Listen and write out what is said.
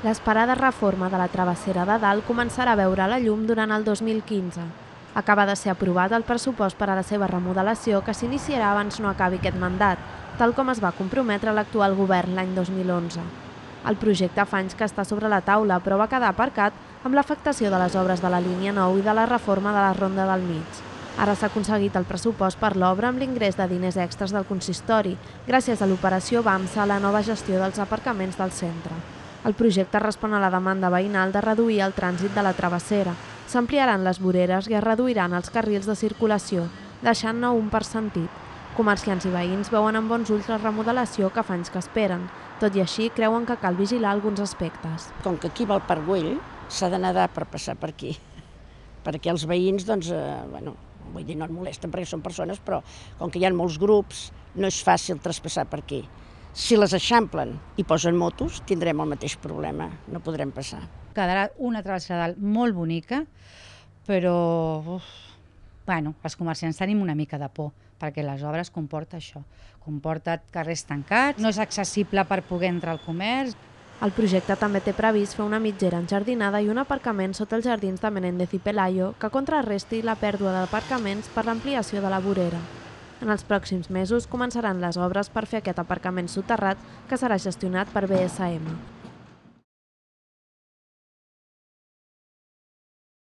L'esperada reforma de la travessera de dalt començarà a veure la llum durant el 2015. Acaba de ser aprovat el pressupost per a la seva remodelació que s'iniciarà abans no acabi aquest mandat, tal com es va comprometre l'actual govern l'any 2011. El projecte fa anys que està sobre la taula, però va quedar aparcat amb l'afectació de les obres de la línia 9 i de la reforma de la Ronda del Mig. Ara s'ha aconseguit el pressupost per l'obra amb l'ingrés de diners extras del consistori, gràcies a l'operació BAMSA, la nova gestió dels aparcaments del centre. El projecte respon a la demanda veïnal de reduir el trànsit de la travessera. S'ampliaran les voreres i es reduiran els carrils de circulació, deixant-ne un per sentit. Comerciants i veïns veuen amb bons ulls la remodelació que fa anys que esperen. Tot i així, creuen que cal vigilar alguns aspectes. Com que aquí va el Parc Güell, s'ha de nedar per passar per aquí. Perquè els veïns, doncs, vull dir, no et molesten perquè són persones, però com que hi ha molts grups, no és fàcil traspassar per aquí. Si les eixamplen i posen motos, tindrem el mateix problema, no podrem passar. Quedarà una travessera dalt molt bonica, però els comerciants tenim una mica de por, perquè les obres comporta això. Comporta carrers tancats, no és accessible per poder entrar al comerç. El projecte també té previst fer una mitgera enjardinada i un aparcament sota els jardins de Menéndez i Pelayo que contrarresti la pèrdua d'aparcaments per l'ampliació de la vorera. En els pròxims mesos començaran les obres per fer aquest aparcament soterrat que serà gestionat per BSM.